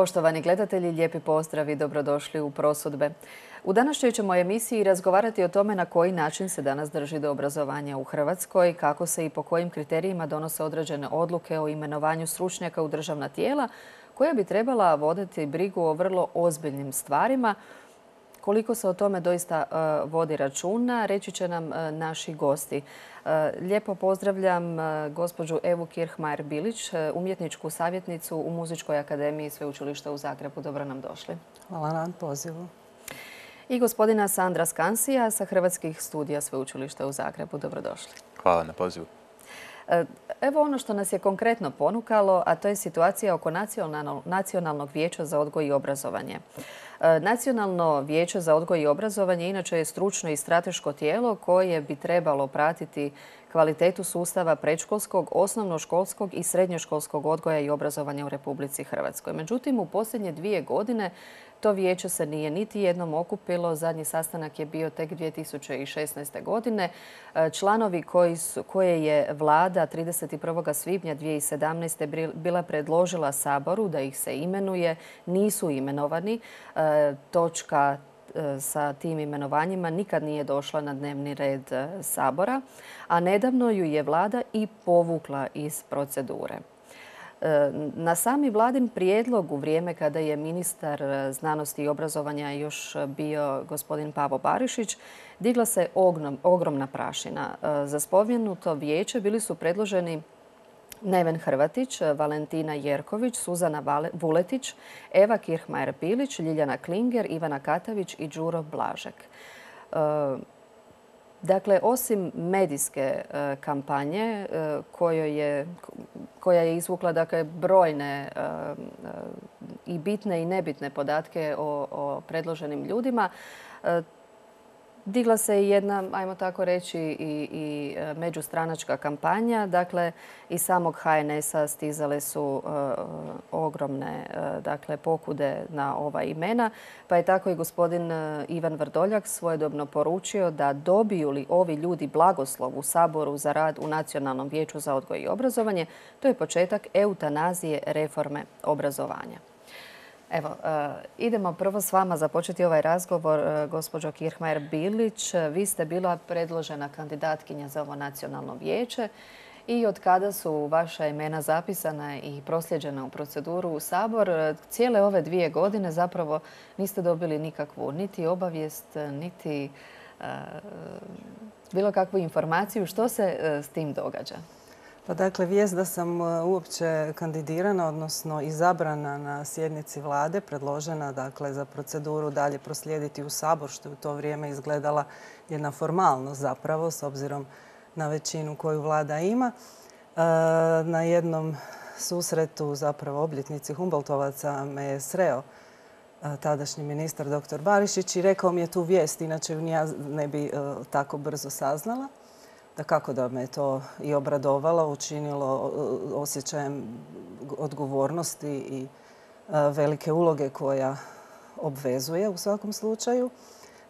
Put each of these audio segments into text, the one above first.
Poštovani gledatelji, lijepi pozdrav i dobrodošli u Prosudbe. U današnjoj ćemo emisiji razgovarati o tome na koji način se danas drži do obrazovanja u Hrvatskoj, kako se i po kojim kriterijima donose određene odluke o imenovanju stručnjaka u državna tijela koja bi trebala voditi brigu o vrlo ozbiljnim stvarima. Koliko se o tome doista vodi računa, reći će nam naši gosti. Lijepo pozdravljam gospođu Evu Kirchmayer-Bilić, umjetničku savjetnicu u Muzičkoj akademiji Sveučilišta u Zagrebu. Dobro nam došli. Hvala na pozivu. I gospodina Sandra Skansija sa Hrvatskih studija Sveučilišta u Zagrebu. Dobrodošli. Hvala na pozivu. Evo ono što nas je konkretno ponukalo, a to je situacija oko Nacionalnog vijeća za odgoj i obrazovanje. Nacionalno vijeće za odgoj i obrazovanje inače je stručno i strateško tijelo koje bi trebalo pratiti kvalitetu sustava predškolskog, osnovnoškolskog i srednjoškolskog odgoja i obrazovanja u Republici Hrvatskoj. Međutim, u posljednje 2 godine to vijeće se nije niti jednom okupilo. Zadnji sastanak je bio tek 2016. godine. Članovi koje je vlada 31. svibnja 2017. bila predložila Saboru da ih se imenuje, nisu imenovani. Točka sa tim imenovanjima nikad nije došla na dnevni red Sabora, a nedavno ju je vlada i povukla iz procedure. Na sami vladin prijedlog u vrijeme kada je ministar znanosti i obrazovanja još bio gospodin Pavo Barišić, digla se ogromna prašina. Za spomenuto vijeće bili su predloženi Neven Hrvatić, Valentina Jerković, Suzana Vuletić, Eva Kirchmayer-Bilić, Ljiljana Klinger, Ivana Katavić i Đuro Blažek. Dakle, osim medijske kampanje koja je izvukla brojne i bitne i nebitne podatke o predloženim ljudima, digla se i jedna, ajmo tako reći, i međustranačka kampanja. Dakle, iz samog HNS-a stizale su ogromne pokude na ova imena. Pa je tako i gospodin Ivan Vrdoljak svojedobno poručio da dobiju li ovi ljudi blagoslov u Saboru za rad u Nacionalnom vijeću za odgoj i obrazovanje, to je početak eutanazije reforme obrazovanja. Evo, idemo prvo s vama započeti ovaj razgovor, gospođo Kirchmayer-Bilić. Vi ste bila predložena kandidatkinja za ovo nacionalno vijeće i od kada su vaša imena zapisana i prosljeđena u proceduru u Sabor, cijele ove 2 godine zapravo niste dobili nikakvu niti obavijest, niti bilo kakvu informaciju. Što se s tim događa? Pa dakle, vijest da sam uopće kandidirana, odnosno izabrana na sjednici vlade, predložena za proceduru dalje proslijediti u Sabor, što je u to vrijeme izgledala jedna formalnost zapravo, s obzirom na većinu koju vlada ima. Na jednom susretu, zapravo obljetnici Humboltovaca, me je sreo tadašnji ministar dr. Barišić i rekao mi je tu vijest, inače ju ni ja ne bi tako brzo saznala. Dakako da me to i obradovalo, učinilo osjećajem odgovornosti i velike uloge koja obvezuje u svakom slučaju.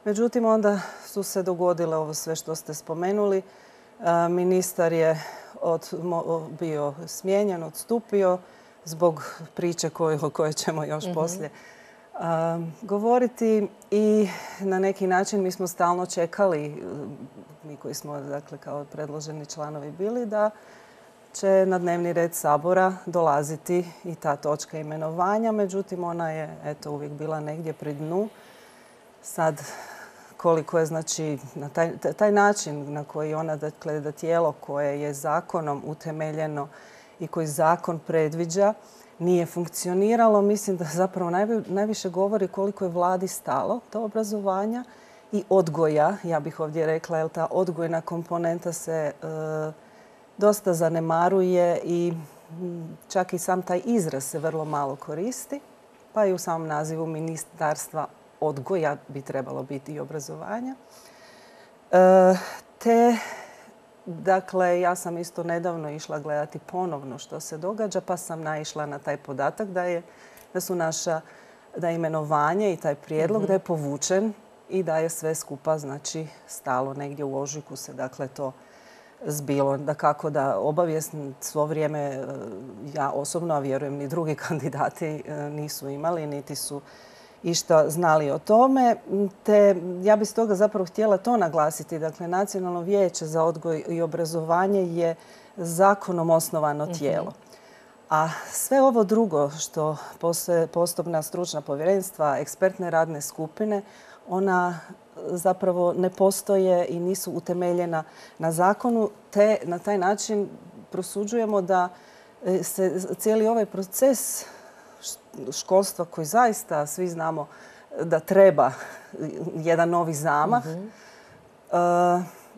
Međutim, onda su se dogodile ovo sve što ste spomenuli. Ministar je bio smijenjen, odstupio zbog priče o kojoj ćemo još poslije govoriti i na neki način mi smo stalno čekali, mi koji smo kao predloženi članovi bili, da će na dnevni red Sabora dolaziti i ta točka imenovanja. Međutim, ona je uvijek bila negdje pri dnu. Sad, koliko je na taj način na koji ona, da tijelo koje je zakonom utemeljeno i koji zakon predviđa, nije funkcioniralo, mislim da zapravo najviše govori koliko je vladi stalo do obrazovanja i odgoja. Ja bih ovdje rekla, jer ta odgojna komponenta se dosta zanemaruje i čak i sam taj izraz se vrlo malo koristi. Pa i u samom nazivu Ministarstva odgoja bi trebalo biti i obrazovanja. Dakle, ja sam isto nedavno išla gledati ponovno što se događa, pa sam naišla na taj podatak da je imenovanje i taj prijedlog da je povučen i da je sve skupa stalo negdje u ožujku se to zbilo. Dakako da obavijest svo vrijeme ja osobno, a vjerujem ni drugi kandidati nisu imali, niti su išta znali o tome. Te ja bih stoga zapravo htjela to naglasiti. Dakle, Nacionalno vijeće za odgoj i obrazovanje je zakonom osnovano tijelo. A sve ovo drugo što postoje postupna stručna povjerenstva, ekspertne radne skupine, ona zapravo ne postoje i nisu utemeljena na zakonu, te na taj način prosuđujemo da se cijeli ovaj proces školstva koji zaista svi znamo da treba jedan novi zamah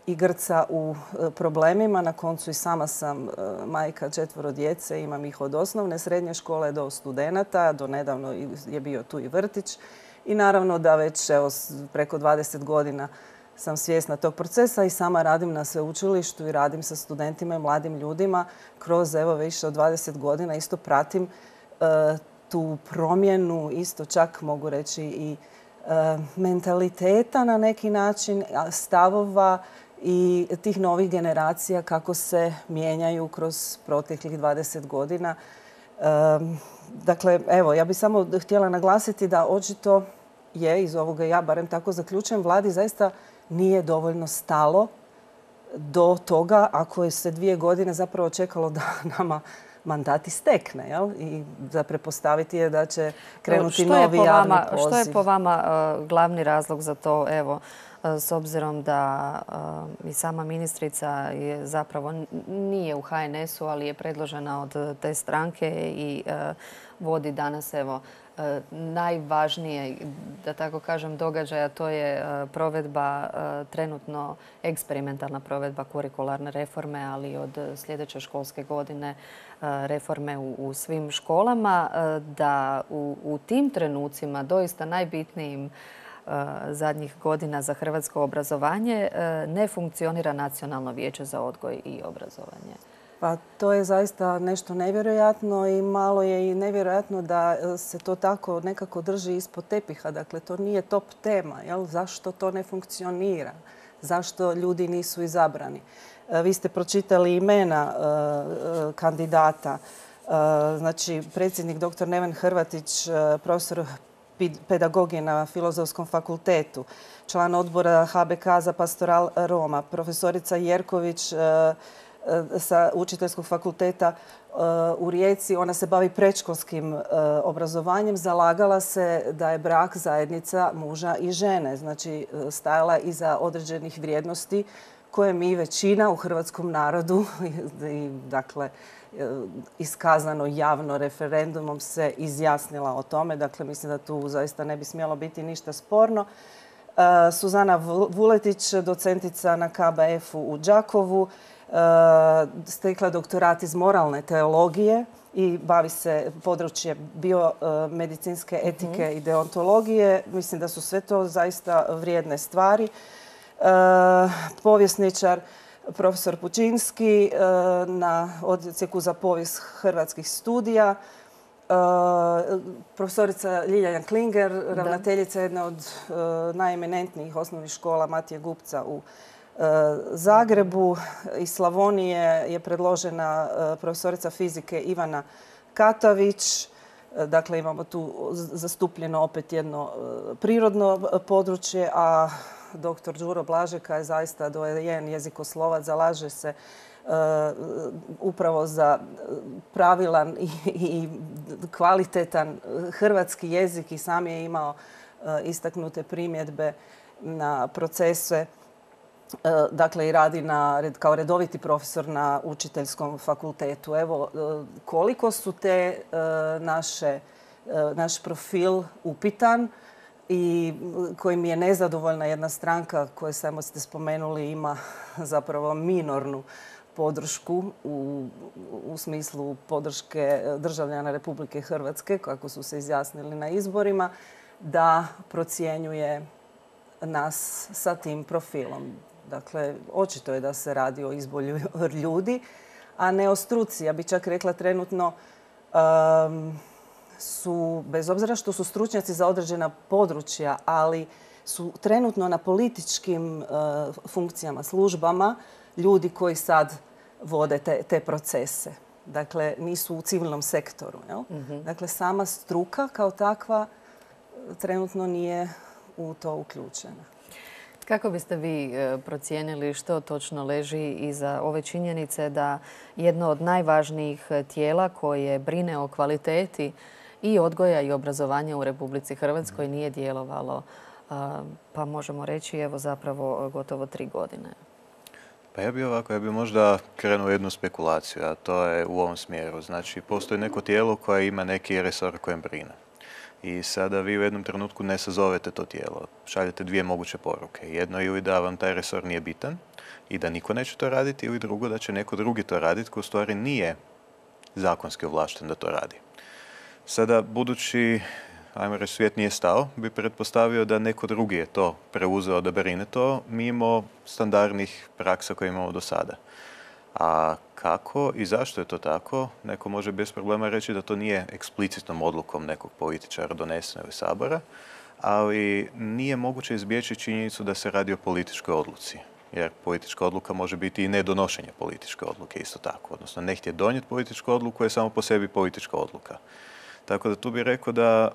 i grca u problemima. Na koncu i sama sam majka 4 djece, imam ih od osnovne, srednje škole do studenata, do nedavno je bio tu i vrtić. I naravno da već preko 20 godina sam svjesna tog procesa i sama radim na sveučilištu i radim sa studentima i mladim ljudima. Kroz više od 20 godina isto pratim tu promjenu, isto čak mogu reći i mentaliteta na neki način, stavova i tih novih generacija kako se mijenjaju kroz proteklih 20 godina. Dakle, evo, ja bih samo htjela naglasiti da očito je, iz ovoga ja barem tako zaključujem, vladi zaista nije dovoljno stalo do toga ako je se 2 godine zapravo čekalo da nama mandat istekne. I za pretpostaviti je da će krenuti novi javni poziv. Što je po vama glavni razlog za to? Evo, s obzirom da i sama ministrica je zapravo nije u HNS-u, ali je predložena od te stranke i vodi danas najvažnije, da tako kažem, događaja, to je provedba, trenutno eksperimentalna provedba kurikularne reforme, ali od sljedeće školske godine reforme u svim školama, da u tim trenucima doista najbitnijim zadnjih godina za hrvatsko obrazovanje ne funkcionira Nacionalno vijeće za odgoj i obrazovanje. Pa to je zaista nešto nevjerojatno i malo je i nevjerojatno da se to tako nekako drži ispod tepiha. Dakle, to nije top tema. Zašto to ne funkcionira? Zašto ljudi nisu izabrani? Vi ste pročitali imena kandidata. Znači, predsjednik dr. Neven Hrvatić, profesor pedagogije na Filozofskom fakultetu, član odbora HBK za pastoral Roma, profesorica Jerković sa Učiteljskog fakulteta u Rijeci. Ona se bavi predškolskim obrazovanjem. Zalagala se da je brak zajednica muža i žene. Znači, stajala iza određenih vrijednosti koje mi većina u hrvatskom narodu, dakle, iskazano javno referendumom se izjasnila o tome. Dakle, mislim da tu zaista ne bi smjelo biti ništa sporno. Suzana Vuletić, docentica na KBF-u u Đakovu, stekla doktorat iz moralne teologije i bavi se područje biomedicinske etike i deontologije. Mislim da su sve to zaista vrijedne stvari. Povjesničar profesor Pučinski na odsjeku za povijest hrvatskih studija. Profesorica Ljiljana Klinger, ravnateljica jedne od najeminentnijih osnovnih škola Matije Gupca u Zagrebu. Iz Slavonije je predložena profesorica fizike Ivana Katavić. Dakle, imamo tu zastupljeno opet jedno prirodno područje, a dr. Đuro Blažeka je zaista dojen jezikoslovac, zalaže se upravo za pravilan i kvalitetan hrvatski jezik i sam je imao istaknute primjedbe na procese. Dakle, i radi kao redoviti profesor na Učiteljskom fakultetu. Evo, koliko su naš profil upitan i kojim je nezadovoljna jedna stranka koja, samo ste spomenuli, ima zapravo minornu podršku u smislu podrške državljana Republike Hrvatske, kako su se izjasnili na izborima, da procjenjuje nas sa tim profilom. Dakle, očito je da se radi o izboru ljudi, a ne o struci. Ja bih čak rekla trenutno su, bez obzira što su stručnjaci za određena područja, ali su trenutno na političkim funkcijama, službama, ljudi koji sad vode te procese. Dakle, nisu u civilnom sektoru. Jel? Dakle, sama struka kao takva trenutno nije u to uključena. Kako biste vi procijenili što točno leži iza ove činjenice da jedno od najvažnijih tijela koje brine o kvaliteti i odgoja i obrazovanja u Republici Hrvatskoj nije djelovalo, pa možemo reći, evo zapravo gotovo 3 godine? Pa ja bi možda krenuo jednu spekulaciju, a to je u ovom smjeru. Znači, postoji neko tijelo koje ima neki resor kojem brine. I sada vi u jednom trenutku ne sazovete to tijelo. Šaljete 2 moguće poruke. Jedno je ili da vam taj resor nije bitan i da niko neće to raditi, ili drugo da će neko drugi to raditi koji u stvari nije zakonski ovlašten da to radi. Sada, budući, ajmo reći, svijet nije stao, bi pretpostavio da neko drugi je to preuzeo da brine to mimo standardnih praksa koje imamo do sada. A kako i zašto je to tako, neko može bez problema reći da to nije eksplicitnom odlukom nekog političara doneseno iz Sabora, ali nije moguće izbjeći činjenicu da se radi o političkoj odluci. Jer politička odluka može biti i nedonošenje političke odluke isto tako. Odnosno, ne htjeti donijeti političku odluku je samo po sebi politička odluka. Tako da tu bih rekao da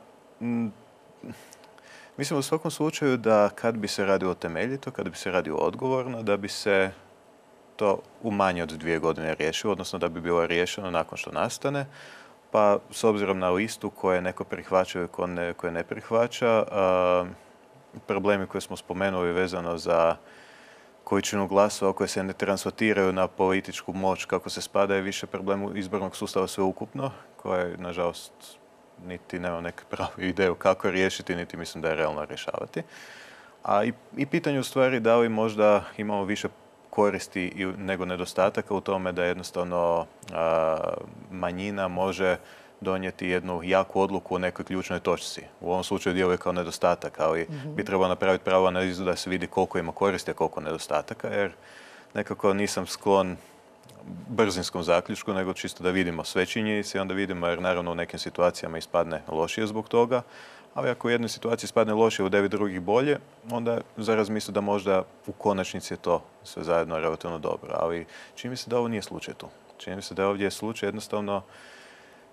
mislim u svakom slučaju da kad bi se radilo temeljito, kad bi se radilo odgovorno, da bi se to u manje od 2 godine riješilo, odnosno da bi bilo riješeno nakon što nastane. Pa s obzirom na listu koje neko prihvaća i koje ne prihvaća, problemi koje smo spomenuli vezano za količinu glasova koje se ne transferiraju na političku moć kako se spada je više problem izbornog sustava sveukupno, koje, nažalost, niti nemam neku pravu ideju kako riješiti, niti mislim da je realno rješavati. A i pitanje u stvari da li možda imamo više koristi nego nedostataka u tome da jednostavno manjina može donijeti jednu jaku odluku u nekoj ključnoj točci. U ovom slučaju djeluje kao nedostatak, ali bi trebalo napraviti pravu analizu da se vidi koliko ima koristi, a koliko nedostataka, jer nekako nisam sklon brzinskom zaključku, nego čisto da vidimo sve činjenice i onda vidimo, jer naravno u nekim situacijama ispadne lošije zbog toga, ali ako u jednoj situaciji ispadne lošije, u 9 drugih bolje, onda za razmislu da možda u konačnici je to sve zajedno relativno dobro. Ali čini mi se da ovo nije slučaj tu. Čini mi se da ovdje je slučaj jednostavno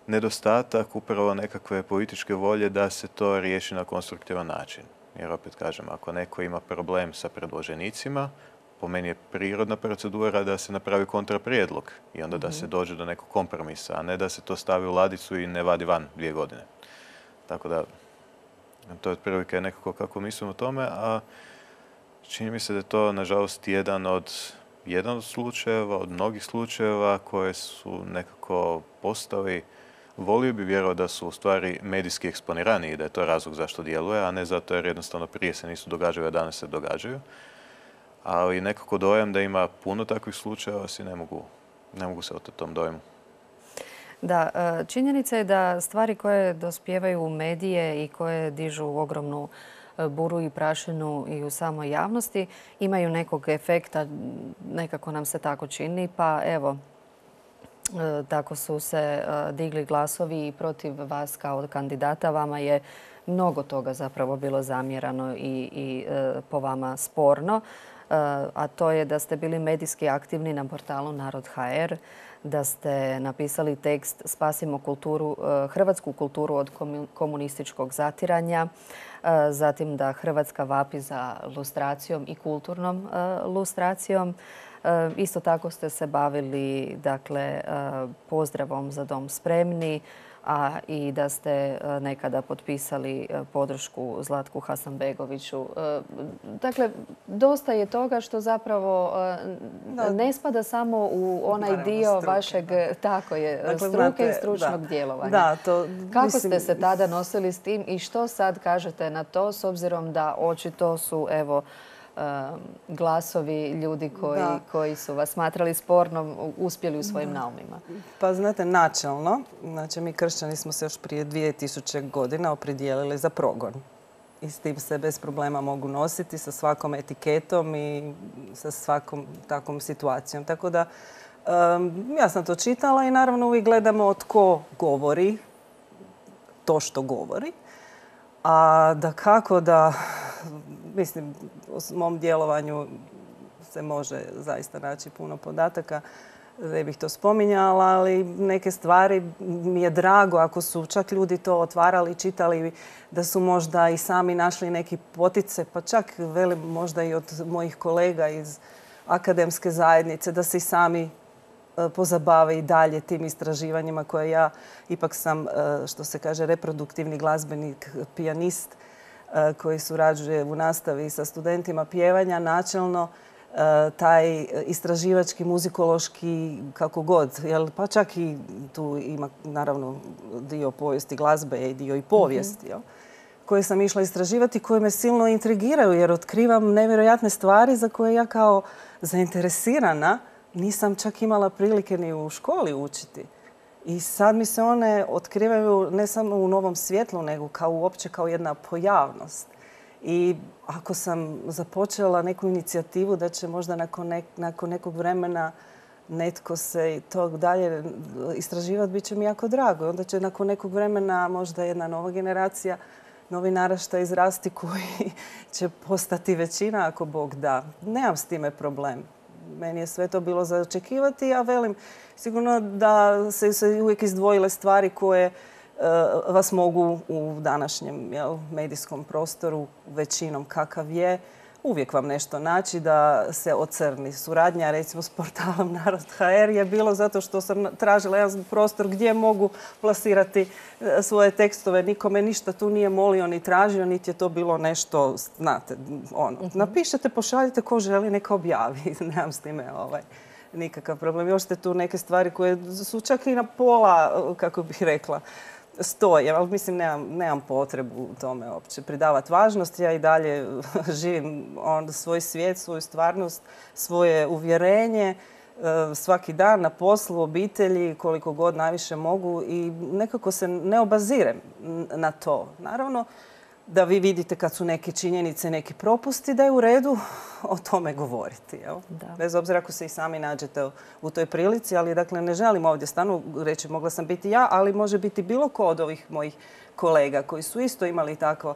nedostatak upravo nekakve političke volje da se to riješi na konstruktivan način. Jer opet kažem, ako neko ima problem sa predloženicima, po meni je prirodna procedura da se napravi kontraprijedlog i onda da se dođe do nekog kompromisa, a ne da se to stavi u ladicu i ne vadi van 2 godine. Tako da, to je otprilike nekako kako mislim o tome, a čini mi se da je to, nažalost, jedan od slučajeva, od mnogih slučajeva koje su nekako postali. Volio bi vjerovati da su u stvari medijski eksponirani i da je to razlog zašto djeluje, a ne zato jer jednostavno prije se nisu događali, a danas se događaju. Ali nekako dojam da ima puno takvih slučajeva, si ne mogu se oteti tom dojmu. Da, činjenica je da stvari koje dospijevaju u medije i koje dižu ogromnu buru i prašinu i u samoj javnosti imaju nekog efekta, nekako nam se tako čini, pa evo, tako su se digli glasovi i protiv vas kao kandidata. Vama je mnogo toga zapravo bilo zamjerano i po vama sporno, a to je da ste bili medijski aktivni na portalu Narod.hr, da ste napisali tekst Spasimo hrvatsku kulturu od komunističkog zatiranja, zatim da Hrvatska vapi za lustracijom i kulturnom lustracijom. Isto tako ste se bavili, dakle, pozdravom Za dom spremni, a i da ste nekada potpisali podršku Zlatku Hasanbegoviću. Dakle, dosta je toga što zapravo ne spada samo u onaj dio vašeg, tako je, struke i stručnog djelovanja. Kako ste se tada nosili s tim i što sad kažete na to, s obzirom da očito su, evo, glasovi ljudi koji su vas smatrali spornom uspjeli u svojim naumima? Pa znate, načelno, znači mi kršćani smo se još prije 2000 godina opredijelili za progon. I s tim se bez problema mogu nositi sa svakom etiketom i sa svakom takvom situacijom. Tako da ja sam to čitala i naravno uvijek gledamo tko govori to što govori. A da kako da, mislim, u mom djelovanju se može zaista naći puno podataka. Ne bih to spominjala, ali neke stvari mi je drago ako su čak ljudi to otvarali, čitali, da su možda i sami našli neki potice, pa čak velim možda i od mojih kolega iz akademske zajednice, da se i sami pozabave i dalje tim istraživanjima koje ja ipak sam, što se kaže, reproduktivni glazbenik, pijanist koji surađuje u nastavi sa studentima pjevanja. Načelno taj istraživački, muzikološki, kako god, pa čak i tu ima naravno dio povijesti glazbe i dio i povijesti, koje sam išla istraživati, koje me silno intrigiraju jer otkrivam nevjerojatne stvari za koje ja kao zainteresirana nisam čak imala prilike ni u školi učiti. I sad mi se one otkrivaju ne samo u novom svjetlu, nego uopće kao jedna pojavnost. I ako sam započela neku inicijativu da će možda nakon nekog vremena netko se tog dalje istraživati, bit će mi jako drago. Onda će nakon nekog vremena možda jedna nova generacija, novi naraštaj izrasti koji će postati većina ako Bog da. Nemam s time problem. Meni je sve to bilo za očekivati, a velim sigurno da se uvijek izdvojile stvari koje vas mogu u današnjem medijskom prostoru, većinom kakav je, uvijek vam nešto naći da se ocrni. Suradnja, recimo, s portalom Narod.hr je bilo zato što sam tražila jedan prostor gdje mogu plasirati svoje tekstove. Nikome ništa tu nije molio ni tražio, niti je to bilo nešto, znate, napišete, pošaljite, ko želi neka objavi. Nemam s time nikakav problem. Još ste tu neke stvari koje su čak i na pola, kako bih rekla, stoje, ali mislim nemam potrebu u tome uopće pridavati važnost. Ja i dalje živim svoj svijet, svoju stvarnost, svoje uvjerenje svaki dan na poslu, obitelji, koliko god najviše mogu i nekako se ne obazirem na to. Naravno da vi vidite kad su neke činjenice, neki propusti, da je u redu o tome govoriti. Bez obzira ako se i sami nađete u toj prilici, ali dakle ne želim ovdje stanu reći mogla sam biti ja, ali može biti bilo ko od ovih mojih kolega koji su isto imali tako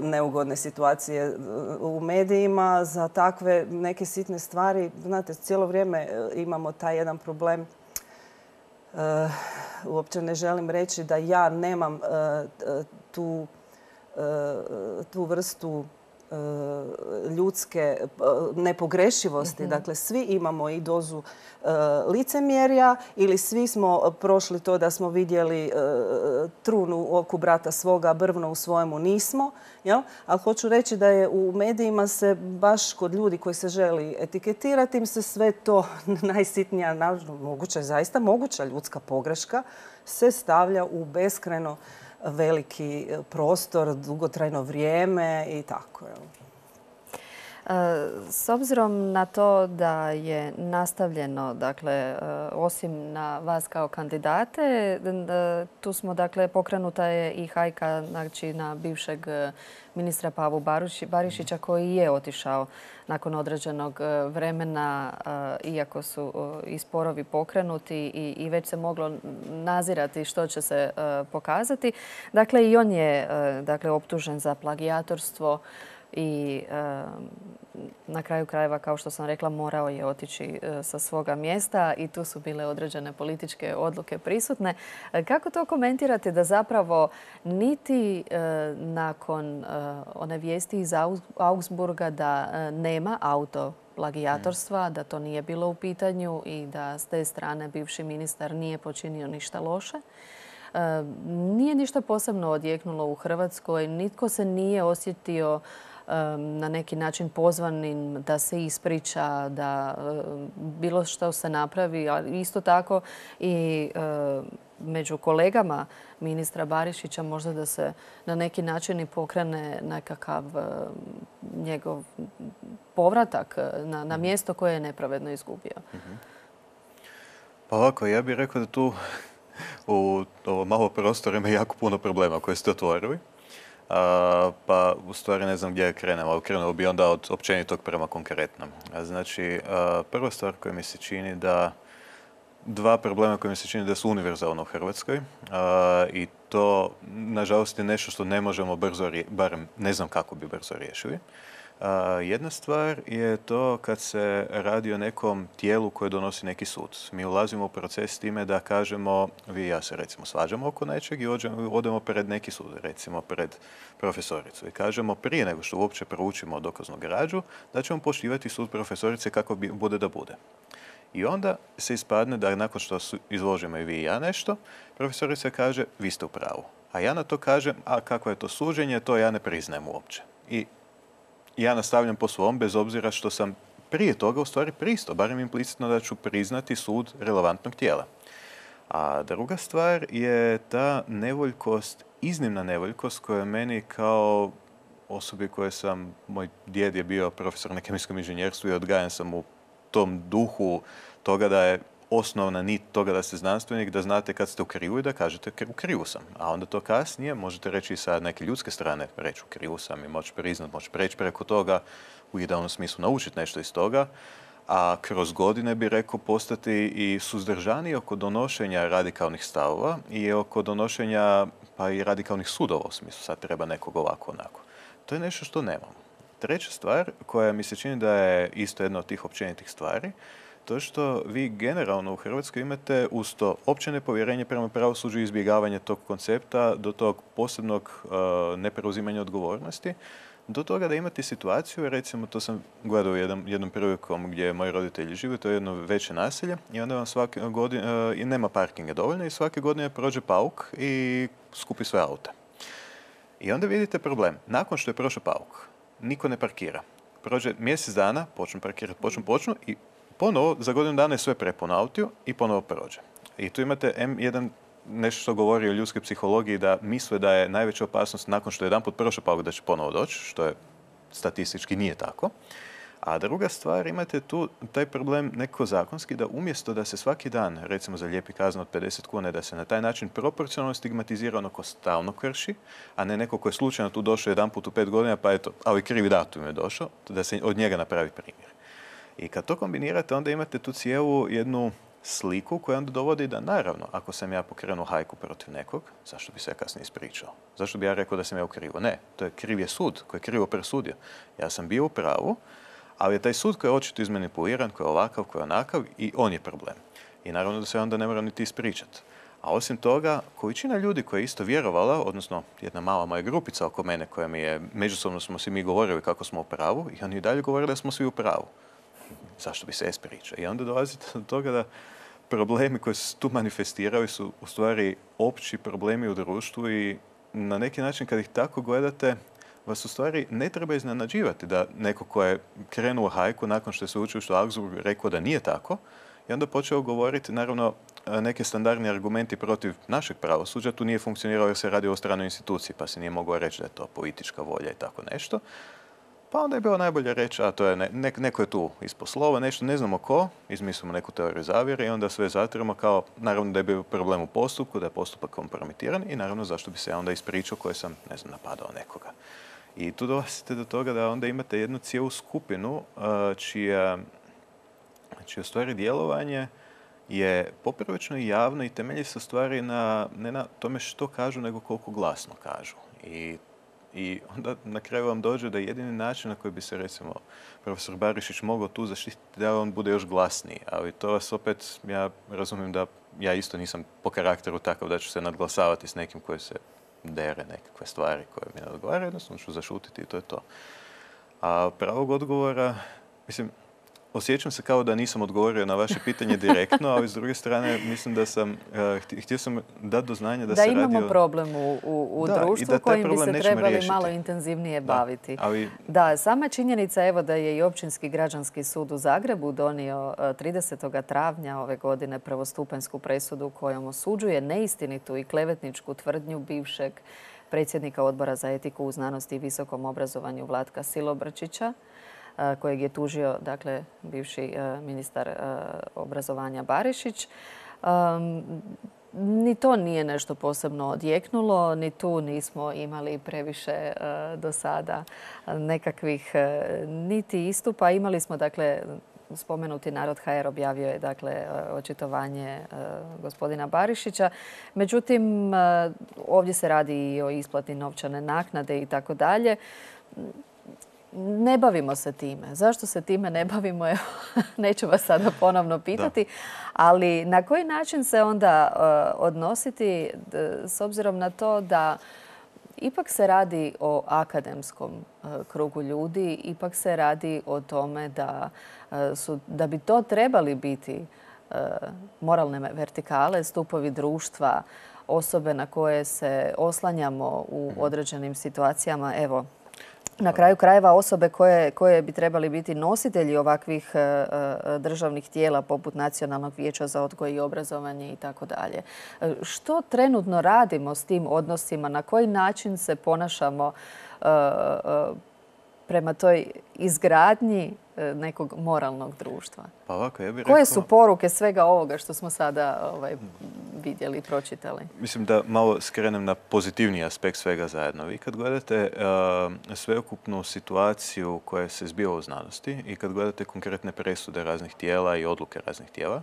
neugodne situacije u medijima za takve neke sitne stvari. Znate, cijelo vrijeme imamo taj jedan problem. Uopće ne želim reći da ja nemam tu vrstu ljudske nepogrešivosti. Dakle, svi imamo i dozu licemjerja ili svi smo prošli to da smo vidjeli trunu u oku brata svoga, brvno u svojemu nismo. Ali hoću reći da je u medijima se baš kod ljudi koji se želi etiketirati im se sve to najsitnija, moguća, zaista moguća ljudska pogreška se stavlja u beskrajno veliki prostor, dugotrajno vrijeme i tako. S obzirom na to da je nastavljeno, dakle, osim na vas kao kandidate, tu smo, dakle, pokrenuta je i hajka, znači, na bivšeg ministra Pavu Barišića koji je otišao nakon određenog vremena, iako su i sporovi pokrenuti i već se moglo nazirati što će se pokazati. Dakle, i on je, dakle, optužen za plagijatorstvo i na kraju krajeva, kao što sam rekla, morao je otići sa svoga mjesta i tu su bile određene političke odluke prisutne. Kako to komentirate da zapravo niti nakon one vijesti iz Augsburga da nema autoplagijatorstva, da to nije bilo u pitanju i da s te strane bivši ministar nije počinio ništa loše? Nije ništa posebno odjeknulo u Hrvatskoj, nitko se nije osjetio na neki način pozvanim da se ispriča, da bilo što se napravi, ali isto tako i među kolegama ministra Barišića možda da se na neki način i pokrene nekakav njegov povratak na mjesto koje je nepravedno izgubio. Pa ovako, ja bih rekao da tu u ovo malo prostora ima jako puno problema koje ste otvorili. Pa u stvari ne znam gdje krenemo, ali krenuo bi onda od općenitog prema konkretnom. Znači, prva stvar koja mi se čini da dva problema koje mi se čini da su univerzalno u Hrvatskoj i to, nažalost, je nešto što ne možemo brzo, barem ne znam kako bi brzo riješili. Jedna stvar je to kad se radi o nekom tijelu koje donosi neki sud. Mi ulazimo u proces s time da kažemo, vi i ja se recimo svađamo oko nečeg i odemo pred neki sud, recimo pred profesoricu. I kažemo prije nego što uopće proučimo dokaznu građu, da ćemo poštivati sud profesorice kako bude da bude. I onda se ispadne da nakon što izložimo i vi i ja nešto, profesorica kaže vi ste u pravu. A ja na to kažem, a kako je to suđenje, to ja ne priznajem uopće. I ja nastavljam po svom, bez obzira što sam prije toga u stvari pristao, barem implicitno da ću priznati sud relevantnog tijela. A druga stvar je ta nevoljkost, iznimna nevoljkost koja je meni kao osobi moj djed je bio profesor na kemijskom inženjerstvu i odgajan sam u tom duhu toga da je osnovna nit toga da ste znanstvenik, da znate kad ste u krivu i da kažete u krivu sam. A onda to kasnije možete reći i sa neke ljudske strane, reći u krivu sam i moći priznat, moći preći preko toga, u idealnom smislu naučiti nešto iz toga, a kroz godine bi rekao postati i suzdržaniji oko donošenja radikalnih stavova i oko donošenja pa i radikalnih sudova u smislu sad treba nekog ovako onako. To je nešto što nemamo. Treća stvar koja mi se čini da je isto jedna od tih općenitih stvari, to što vi generalno u Hrvatskoj imate uz to opće nepovjerenje prema pravosuđu i izbjegavanje tog koncepta do tog posebnog nepreuzimanja odgovornosti, do toga da imate situaciju, recimo to sam gledao jednom prilikom gdje moji roditelji žive, to je jedno veće naselje i onda vam svake godine, i nema parkinga dovoljno i svake godine prođe pauk i skupi sve aute. I onda vidite problem. Nakon što je prošao pauk, niko ne parkira. Prođe mjesec dana, počnu parkirati, počnu i ponovo za godinu dana je sve prepuno autiju i ponovo prođe. I tu imate nešto što govori o ljudskoj psihologiji da misle da je najveća opasnost nakon što je jedanput prošao pauk da će ponovo doći, što je statistički nije tako. A druga stvar, imate tu taj problem neko zakonski da umjesto da se svaki dan, recimo za lijepi kaznu od 50 kuna, da se na taj način proporcionalno stigmatizira ono ko stalno krši, a ne neko ko je slučajno tu došao jedanput u 5 godina, pa eto, ali krivi datum je došao, da se od njega napravi primjer. I kad to kombinirate, onda imate tu cijelu jednu sliku koja onda dovodi da, naravno, ako sam ja pokrenuo hajku protiv nekog, zašto bi se ja kasnije ispričao? Zašto bi ja rekao da sam ja u krivu? Ne, to je kriv je sud koji je krivo presudio. Ja sam bio u pravu, ali je taj sud koji je očito izmanipuliran, koji je ovakav, koji je onakav i on je problem. I naravno da se onda ne mora niti ispričati. A osim toga, količina ljudi koja je isto vjerovala, odnosno jedna mala moja grupica oko mene koja mi je, međusobno smo si mi govorili kako smo u pravu i oni i dalje govorili da smo svi u pravu. Zašto bi se ispričao? I onda dolazite do toga da problemi koji se tu manifestiraju su u stvari opći problemi u društvu i na neki način kad ih tako gledate, vas u stvari ne treba iznenađivati da neko ko je krenuo hajku nakon što je sveučilište u Augsburgu rekao da nije tako i onda počeo govoriti, naravno, neke standardni argumenti protiv našeg pravosuđa. Tu nije funkcioniralo jer se radi o stranoj instituciji, pa se nije moglo reći da je to politička volja i tako nešto. Pa onda je bilo najbolje reći, a to je neko je tu ispod slova, nešto, ne znamo ko, izmislimo neku teoriju zavjere i onda sve zatiramo kao, naravno da je bio problem u postupku, da je postupak kompromitiran i naravno zašto bi se ja onda ispričao koji sam, ne znam, napadao nekoga. I tu dolazite do toga da onda imate jednu cijelu skupinu čije u stvari djelovanje je poprilično javno i temelji se u stvari ne na tome što kažu, nego koliko glasno kažu. I onda na kraju vam dođe da jedini način na koji bi se, recimo, profesor Barišić mogao tu zaštititi da on bude još glasniji. Ali to vas opet, ja razumijem da ja isto nisam po karakteru takav da ću se nadglasavati s nekim koji se dere nekakve stvari koje mi ne odgovaraju, jednostavno ću zašutiti i to je to. A pravog odgovora, mislim, osjećam se kao da nisam odgovorio na vaše pitanje direktno, ali s druge strane mislim da sam, htio sam dati do znanja da se radi o... Da imamo problem u društvu kojim bi se trebali riješiti. Malo intenzivnije baviti. Da, sama činjenica evo da je i Općinski građanski sud u Zagrebu donio 30. travnja ove godine prvostupanjsku presudu kojom osuđuje neistinitu i klevetničku tvrdnju bivšeg predsjednika Odbora za etiku u znanosti i visokom obrazovanju Vlatka Silobrčića, kojeg je tužio, dakle, bivši ministar obrazovanja Barišić. Ni to nije nešto posebno odjeknulo, ni tu nismo imali previše do sada nekakvih niti istupa. Imali smo, dakle, spomenuti Narod.hr objavio je, dakle, očitovanje gospodina Barišića. Međutim, ovdje se radi i o isplati novčane naknade i tako dalje. ne bavimo se time. Zašto se time ne bavimo? Evo, neću vas sada ponovno pitati. Ali na koji način se onda odnositi s obzirom na to da ipak se radi o akademskom krugu ljudi, ipak se radi o tome da bi to trebali biti moralne vertikale, stupovi društva, osobe na koje se oslanjamo u određenim situacijama. Evo, na kraju krajeva osobe koje bi trebali biti nositelji ovakvih državnih tijela poput Nacionalnog vijeća za odgoj i obrazovanje i tako dalje. Što trenutno radimo s tim odnosima? Na koji način se ponašamo prema toj izgradnji nekog moralnog društva? Pa ovako, ja bih rekao... Koje su poruke svega ovoga što smo sada vidjeli i pročitali? Mislim da malo skrenem na pozitivniji aspekt svega zajedno. Vi kad gledate sveukupnu situaciju koja se zbiva u znanosti i kad gledate konkretne presude raznih tijela i odluke raznih tijela,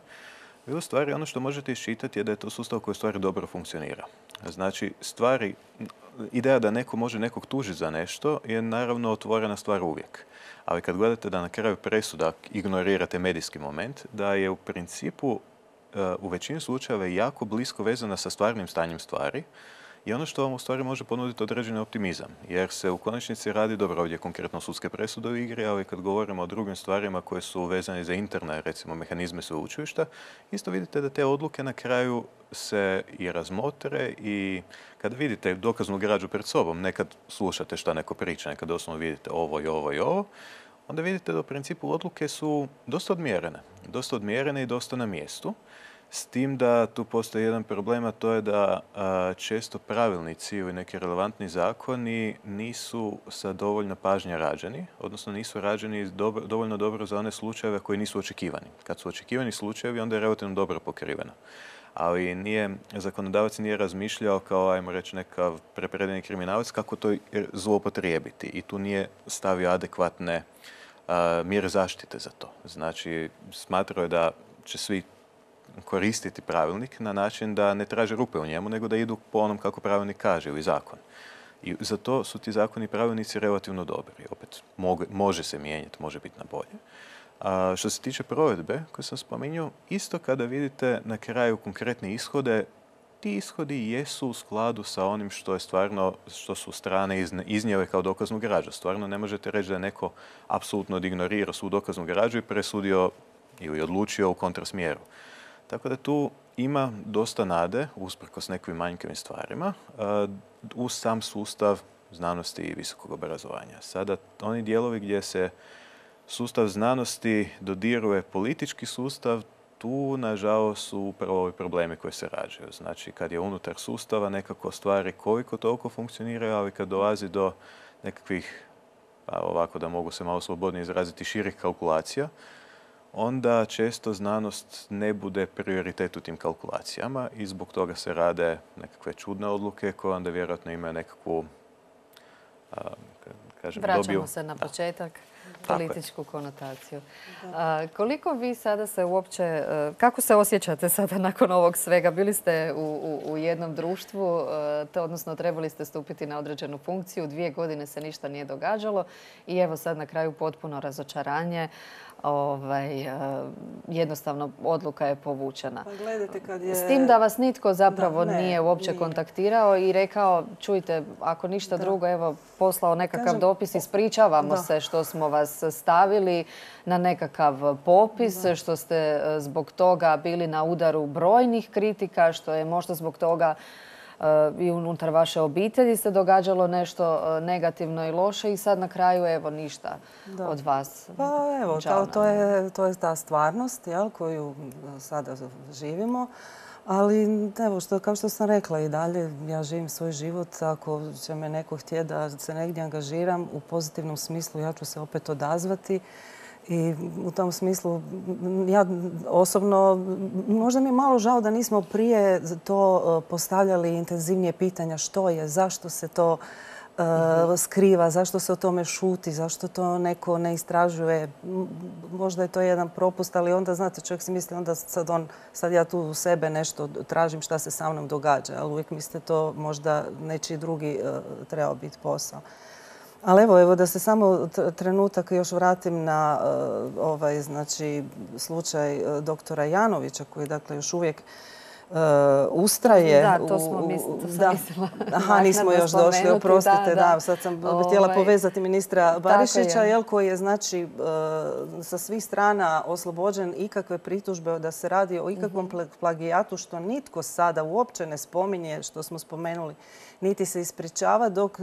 vi u stvari ono što možete iščitati je da je to sustav koji u stvari dobro funkcionira. Znači, ideja da neko može nekog tužiti za nešto je naravno otvorena stvar uvijek. Ali kad gledate da na kraju presuda ignorirate medijski moment, da je u principu u većini slučajeva jako blisko vezana sa stvarnim stanjem stvari i ono što vam u stvari može ponuditi određeni optimizam. Jer se u konačnici radi, dobro, ovdje konkretno sudske presude u igri, ali kad govorimo o drugim stvarima koje su vezane za interne, recimo, mehanizme sveučilišta, isto vidite da te odluke na kraju se i razmotre i kad vidite dokaznu građu pred sobom, nekad slušate šta neko priča, nekad doslovno vidite ovo i ovo i ovo, onda vidite da u principu odluke su dosta odmjerene i dosta na mjestu. S tim da tu postoji jedan problem, a to je da često pravilnici ili neki relevantni zakoni nisu sa dovoljno pažnje rađeni, odnosno nisu rađeni dovoljno dobro za one slučajeve koji nisu očekivani. Kad su očekivani slučajevi, onda je relativno dobro pokriveno. Ali zakonodavac nije razmišljao kao, ajmo reći, nekav prepredeni kriminalac kako to zloupotrijebiti i tu nije stavio adekvatne mjere zaštite za to. Znači, smatrao je da će svi koristiti pravilnik na način da ne traže rupe u njemu, nego da idu po onom kako pravilnik kaže ili zakon. I za to su ti zakoni i pravilnici relativno dobri. Opet, može se mijenjati, može biti na bolje. Što se tiče provedbe, koju sam spominjao, isto kada vidite na kraju konkretne ishode, ti ishodi jesu u skladu sa onim što je stvarno, što su strane iznijele kao dokaznu građu. Stvarno ne možete reći da je neko apsolutno ignorirao svu dokaznu građu i presudio ili odlučio u kontrasmjeru. Tako da tu ima dosta nade, usprkos nekim manjkavim stvarima, u sam sustav znanosti i visokog obrazovanja. Sada, oni dijelovi gdje se sustav znanosti dodiruje politički sustav, tu, nažalost, su upravo ovi problemi koji se rađaju. Znači, kad je unutar sustava nekako stvari koliko toliko funkcioniraju, ali kad dolazi do nekakvih, ovako da mogu se malo slobodnije izraziti, širih kalkulacija, onda često znanost ne bude prioritet u tim kalkulacijama i zbog toga se rade nekakve čudne odluke koje onda vjerojatno imaju nekakvu, Vraćamo se na početak, političku konotaciju. Koliko vi sada se uopće, kako se osjećate sada nakon ovog svega? Bili ste u jednom društvu, odnosno trebali ste stupiti na određenu funkciju, 2 godine se ništa nije događalo i evo sad na kraju potpuno razočaranje. Jednostavno odluka je povučena. S tim da vas nitko zapravo nije uopće kontaktirao i rekao, čujte, ako ništa drugo, evo, poslao nekakav dopis, ispričavamo se što smo vas stavili na nekakav popis, što ste zbog toga bili na udaru brojnih kritika, što je možda zbog toga i unutar vaše obitelji se događalo nešto negativno i loše i sad na kraju evo ništa od vas. Pa evo, to je ta stvarnost koju sada živimo. Ali evo, kao što sam rekla i dalje, ja živim svoj život. Ako će me neko htjeti da se negdje angažiram u pozitivnom smislu, ja ću se opet odazvati. I u tom smislu, ja osobno, možda mi je malo žao da nismo prije to postavljali intenzivnije pitanja što je, zašto se to skriva, zašto se o tome šuti, zašto to neko ne istražuje. Možda je to jedan propust, ali onda, znate, čovjek si misli onda sad ja tu u sebe nešto tražim šta se sa mnom događa, ali uvijek mislite to možda nečiji drugi trebao biti posao. Ali evo da se samo trenutak još vratim na znači, slučaj doktora Janovića koji dakle još uvijek ustraje. Da, to sam mislila. Aha, nismo još došli, oprostite. Da, sad sam htjela povezati ministra Barišića, koji je znači sa svih strana oslobođen ikakve pritužbe da se radi o ikakvom plagijatu, što nitko sada uopće ne spominje, što smo spomenuli, niti se ispričava, dok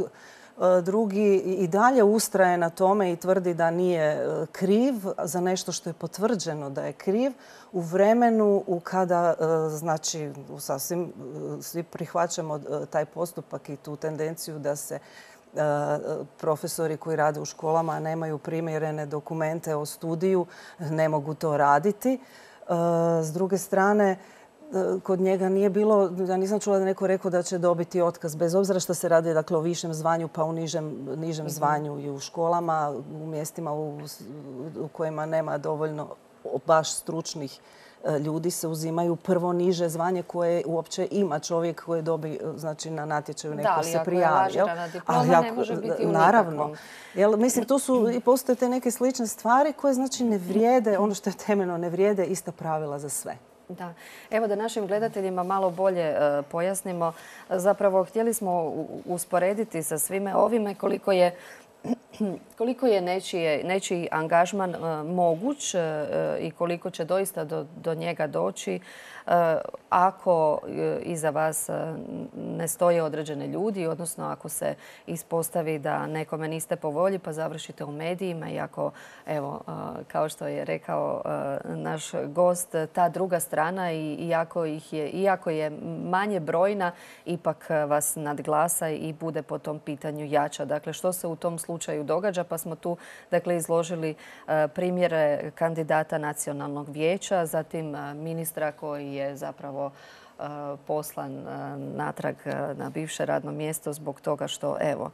drugi i dalje ustraje na tome i tvrdi da nije kriv za nešto što je potvrđeno da je kriv u vremenu kada, znači, sasvim svi prihvaćamo taj postupak i tu tendenciju da se profesori koji rade u školama a nemaju primjerene dokumente o studiju ne mogu to raditi. S druge strane, kod njega nije bilo, ja nisam čula da neko rekao da će dobiti otkaz, bez obzira što se radi dakle, o višem zvanju pa u nižem zvanju i u školama, u mjestima u kojima nema dovoljno baš stručnih ljudi se uzimaju prvo niže zvanje koje uopće ima čovjek koji dobi znači, na natječaju neko se prijavi. Da, ali ako je lažirana diploma ne može biti u naravno. Mislim, tu su i postoje te neke slične stvari koje znači ne vrijede, ono što je temeljno, ne vrijede ista pravila za sve. Da. Evo da našim gledateljima malo bolje pojasnimo. Zapravo htjeli smo usporediti sa svime ovime koliko je nečiji angažman moguć i koliko će doista do njega doći ako iza vas ne stoje određene ljudi, odnosno ako se ispostavi da nekome niste po volji pa završite u medijima i ako, evo, kao što je rekao naš gost, ta druga strana iako je manje brojna, ipak vas nadglasa i bude po tom pitanju jača. Dakle, što se u tom slučaju događa? Pa smo tu dakle, izložili primjere kandidata Nacionalnog vijeća, zatim ministra koji je zapravo poslan natrag na bivše radno mjesto zbog toga što evo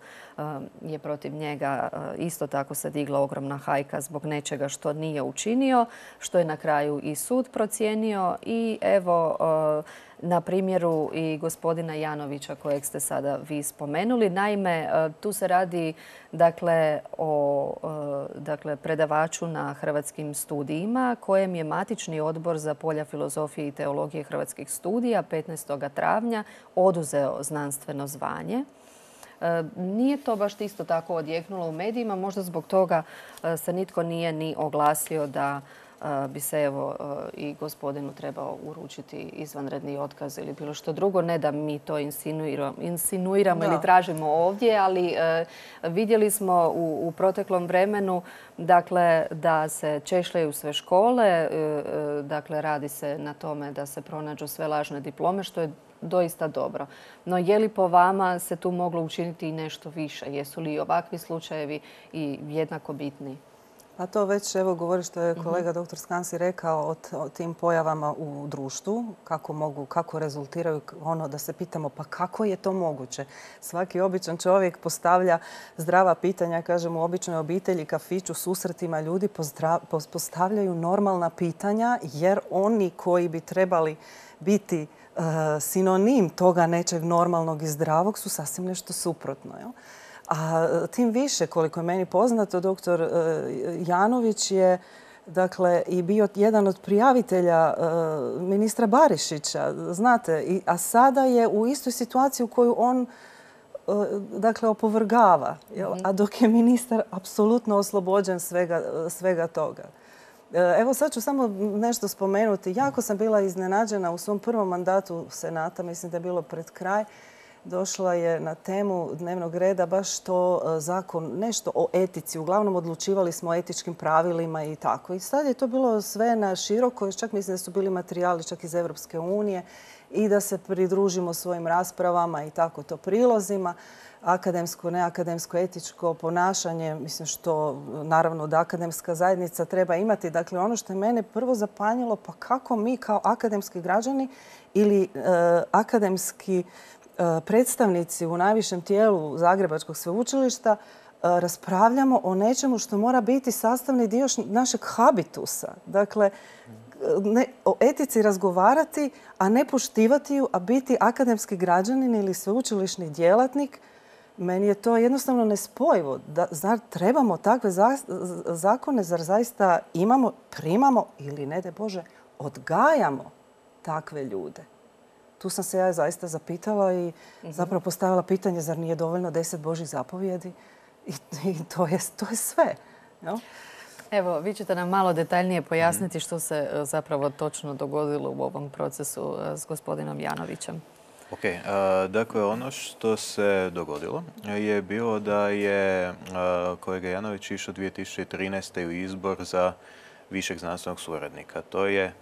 je protiv njega isto tako se digla ogromna hajka zbog nečega što nije učinio, što je na kraju i sud procijenio i evo na primjeru i gospodina Janovića kojeg ste sada vi spomenuli. Naime, tu se radi dakle, o predavaču na Hrvatskim studijima kojem je matični odbor za polja filozofije i teologije Hrvatskih studija 15. travnja oduzeo znanstveno zvanje. Nije to baš isto tako odjeknulo u medijima, možda zbog toga se nitko nije ni oglasio da bi se evo i gospodinu trebao uručiti izvanredni otkaz ili bilo što drugo. Ne da mi to insinuiramo ili tražimo ovdje, ali vidjeli smo u proteklom vremenu dakle, da se češljaju sve škole, dakle radi se na tome da se pronađu sve lažne diplome, što je doista dobro. No je li po vama se tu moglo učiniti i nešto više? Jesu li ovakvi slučajevi i jednako bitni? Pa to već evo govori što je kolega dr. Skansi rekao o tim pojavama u društvu, kako rezultiraju ono da se pitamo pa kako je to moguće. Svaki običan čovjek postavlja zdrava pitanja, kažem u običnoj obitelji, kafiću, susretima ljudi postavljaju normalna pitanja jer oni koji bi trebali biti sinonim toga nečeg normalnog i zdravog su sasvim nešto suprotno. Jel? A tim više, koliko je meni poznato, doktor Janović je dakle, i bio jedan od prijavitelja ministra Barišića, znate, a sada je u istoj situaciji u koju on dakle, opovrgava, a dok je ministar apsolutno oslobođen svega toga. Evo sad ću samo nešto spomenuti. Jako sam bila iznenađena u svom prvom mandatu Senata, mislim da je bilo pred kraj, došla je na temu dnevnog reda baš to zakon, nešto o etici. Uglavnom odlučivali smo o etičkim pravilima i tako. I sad je to bilo sve na široko, čak mislim da su bili materijali čak iz Europske unije i da se pridružimo svojim raspravama i tako to prilozima. Akademsko, neakademsko, etičko ponašanje, mislim što naravno da akademska zajednica treba imati. Dakle, ono što je mene prvo zapanjilo, pa kako mi kao akademski građani ili akademski predstavnici u najvišem tijelu Zagrebačkog sveučilišta raspravljamo o nečemu što mora biti sastavni dio našeg habitusa. Dakle, o etici razgovarati, a ne poštivati ju, a biti akademski građanin ili sveučilišni djelatnik Meni je to jednostavno nespojivo. Zar trebamo takve zakone? Zar zaista imamo, primamo ili, ne daj Bože, odgajamo takve ljude? Tu sam se ja zaista zapitala i zapravo postavila pitanje zar nije dovoljno 10 Božjih zapovjedi? I to je sve. Jel? Evo, vi ćete nam malo detaljnije pojasniti što se zapravo točno dogodilo u ovom procesu s gospodinom Janovićem. Ok, dakle ono što se dogodilo je bilo da je kolega Janović išao 2013. u izbor za višeg znanstvenog suradnika. To je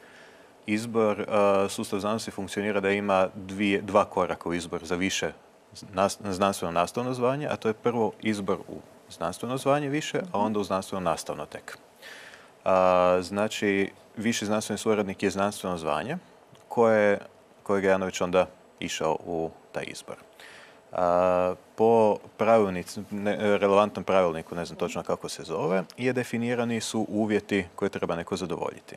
izbor, sustav znanosti funkcionira da ima dva koraka u izbor za više znanstveno nastavno zvanje, a to je prvo izbor u znanstveno zvanje više, a onda u znanstveno nastavno tek. Znači, viši znanstveni suradnik je znanstveno zvanje kojeg je Janović onda išao u taj izbor. Po relevantnom pravilniku, ne znam točno kako se zove, definirani su uvjeti koje treba neko zadovoljiti.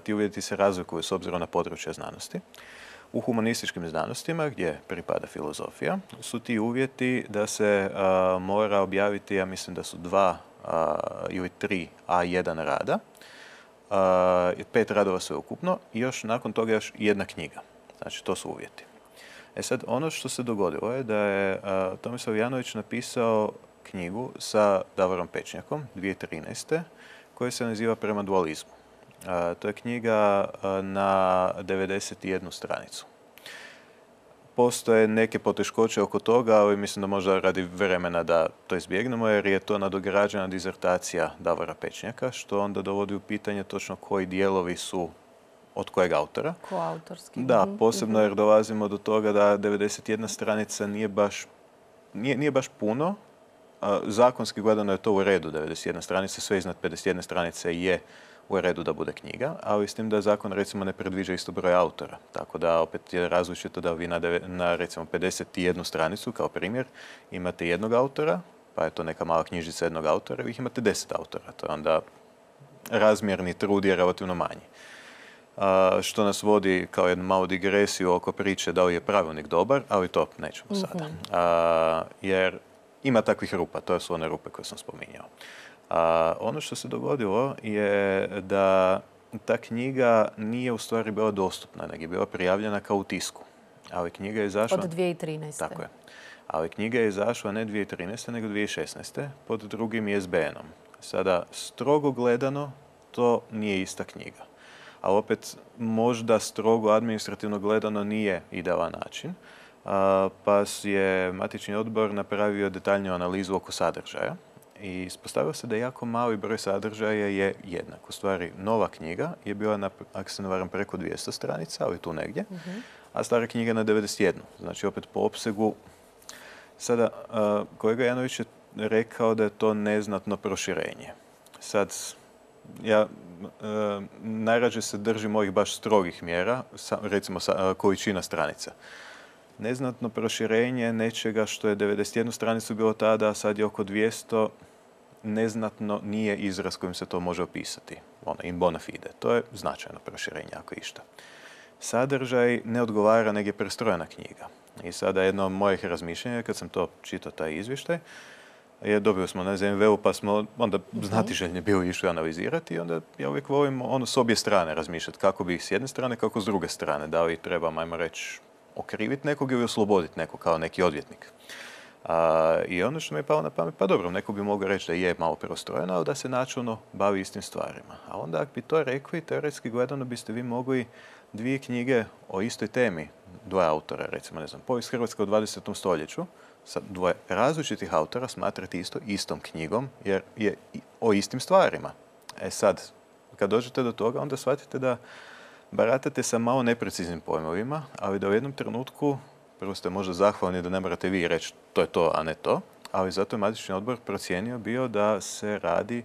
Ti uvjeti se razlikuju s obzirom na područje znanosti. U humanističkim znanostima, gdje pripada filozofija, su ti uvjeti da se mora objaviti, ja mislim da su 2 ili 3 A1 rada, 5 radova sveukupno i još nakon toga još jedna knjiga. Znači, to su uvjeti. Sad, ono što se dogodilo je da je Tomislav Janović napisao knjigu sa Davorom Pečnjakom 2013. koja se naziva Prema dualizmu. To je knjiga na 91 stranicu. Postoje neke poteškoće oko toga, ali mislim da možda radi vremena da to izbjegnemo, jer je to nadograđena dizertacija Davora Pečnjaka, što onda dovodi u pitanje točno koji dijelovi su od kojeg autora. Koautorski. Da, posebno jer dolazimo do toga da 91 stranica nije baš puno. Zakonski gledano je to u redu, 91 stranica, sve iznad 51 stranice je u redu da bude knjiga, ali s tim da zakon recimo ne predviđa isto broj autora. Tako da opet je različito da vi na recimo 51 stranicu, kao primjer, imate jednog autora, pa je to neka mala knjižica jednog autora, vi ih imate 10 autora. To je onda razmjerni trud je relativno manji. Što nas vodi kao jednu malu digresiju oko priče da li je pravilnik dobar, ali to nećemo sada. Jer ima takvih rupa, to su one rupe koje sam spominjao. Ono što se dogodilo je da ta knjiga nije u stvari bila dostupna, nego je bila prijavljena kao u tisku. Ali knjiga je izašla... Od 2013. Tako je. Ali knjiga je izašla ne 2013. nego 2016. pod drugim ISBN-om. Sada, strogo gledano, to nije ista knjiga. Ali opet, možda strogo administrativno gledano nije idealan način. Pa je matični odbor napravio detaljniju analizu oko sadržaja. I ispostavilo se da jako mali broj sadržaja je jednak. U stvari, nova knjiga je bila, ako se ne varam, preko 200 stranica, ali tu negdje, a stara knjiga na 91. Znači, opet po opsegu. Sada, kolega Janović je rekao da je to neznatno proširenje. Sad, ja najrađe se držim ovih baš strogih mjera, recimo količina stranica. Neznatno proširenje nečega što je 91 stranicu bilo tada, a sad je oko 200, neznatno nije izraz kojim se to može opisati. In bona fide. To je značajno proširenje, ako išta. Sadržaj ne odgovara, nego je prestrojena knjiga. I sada jedno od mojih razmišljenja, kad sam to čitao taj izvještaj, dobili smo na ZMV-u, pa smo onda znatiželjni bili išli analizirati i onda ja uvijek volim s obje strane razmišljati kako bi ih s jedne strane, kako s druge strane. Da li trebam, ajmo reći, okriviti nekog ili osloboditi nekog kao neki odvjetnik. I ono što mi je palo na pamet, pa dobro, neko bi mogao reći da je malo preostrojeno, ali da se načelno bavi istim stvarima. A onda ako bi to rekli, teoretski gledano biste vi mogli 2 knjige o istoj temi, 2 autora, recimo, ne znam, povijest Hrvatske u 20. stoljeću, sa 2 različitih autora smatrati istom knjigom, jer je o istim stvarima. Sad, kad dođete do toga, onda shvatite da baratate sa malo nepreciznim pojmovima, ali da u jednom trenutku, prvo ste možda zahvalni da ne morate vi reći to je to, a ne to, ali zato je matični odbor procijenio bio da se radi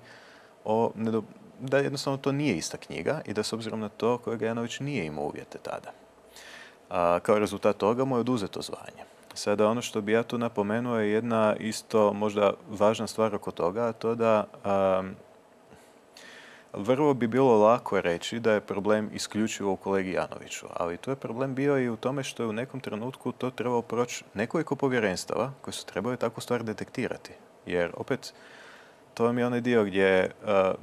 da jednostavno to nije ista knjiga i da s obzirom na to kolega Janović nije imao uvjete tada. Kao rezultat toga mu je oduzeto zvanje. Sada ono što bi ja tu napomenuo je jedna isto možda važna stvar oko toga, a to da vrlo bi bilo lako reći da je problem isključivo u kolegi Janoviću, ali tu je problem bio i u tome što je u nekom trenutku to trebalo proći nekoliko povjerenstava koji su trebali takvu stvar detektirati. Jer opet, to vam je onaj dio gdje,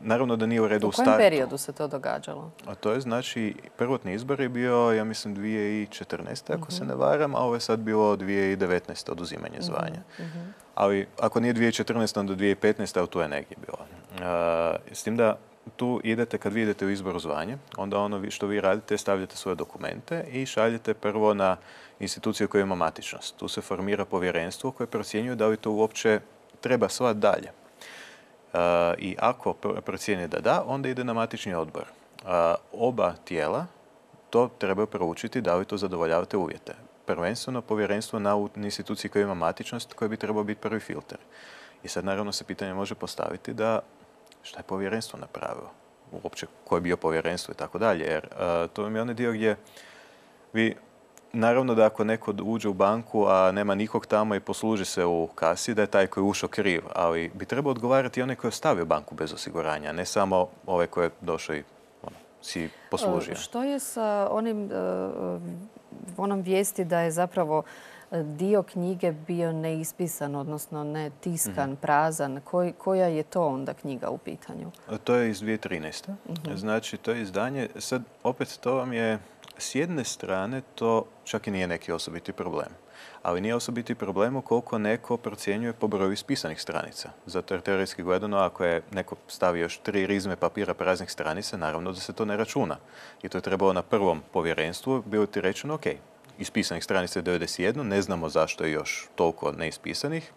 naravno da nije u redu u startu. U kojem periodu se to događalo? A to je znači, prvotni izbor je bio, ja mislim, 2014. ako se ne varam, a ovo je sad bilo 2019. oduzimanje zvanja. Ali ako nije 2014. onda 2015. a tu je negdje bilo. S tim da tu idete, kad vi idete u izboru zvanje, onda ono što vi radite, stavljate svoje dokumente i šaljete prvo na instituciju koja ima matičnost. Tu se formira povjerenstvo koje procjenjuje da li to uopće treba slati dalje. I ako procijeni da da, onda ide na matični odbor. Oba tijela to trebaju proučiti da li to zadovoljavate uvjete. Prvenstveno povjerenstvo na instituciji koja ima matičnost koja bi trebao biti prvi filter. I sad naravno se pitanje može postaviti da šta je povjerenstvo napravilo, uopće koje je bio povjerenstvo i tako dalje. Jer to je onaj dio gdje vi, naravno da ako neko uđe u banku, a nema nikog tamo i posluži se u kasi, da je taj koji je ušao kriv. Ali bi trebao odgovarati onaj koji je ostavio banku bez osiguranja, ne samo ovaj koji je došao i si poslužio. Što je sa onom vijesti da je zapravo dio knjige bio neispisan, odnosno ne tiskan, prazan? Koja je to onda knjiga u pitanju? To je iz 2013. Znači, to je izdanje. Sad, opet, to vam je, s jedne strane, to čak i nije neki osobiti problem. Ali nije osobiti problem ukoliko neko procjenjuje po broju ispisanih stranica. Zato jer teoretski gledano, ako je neko stavio još 3 rizme papira praznih stranica, naravno da se to ne računa. I to je trebalo na prvom povjerenstvu, bilo ti rečeno, ok, ispisanih stranica je 91, ne znamo zašto je još toliko neispisanih,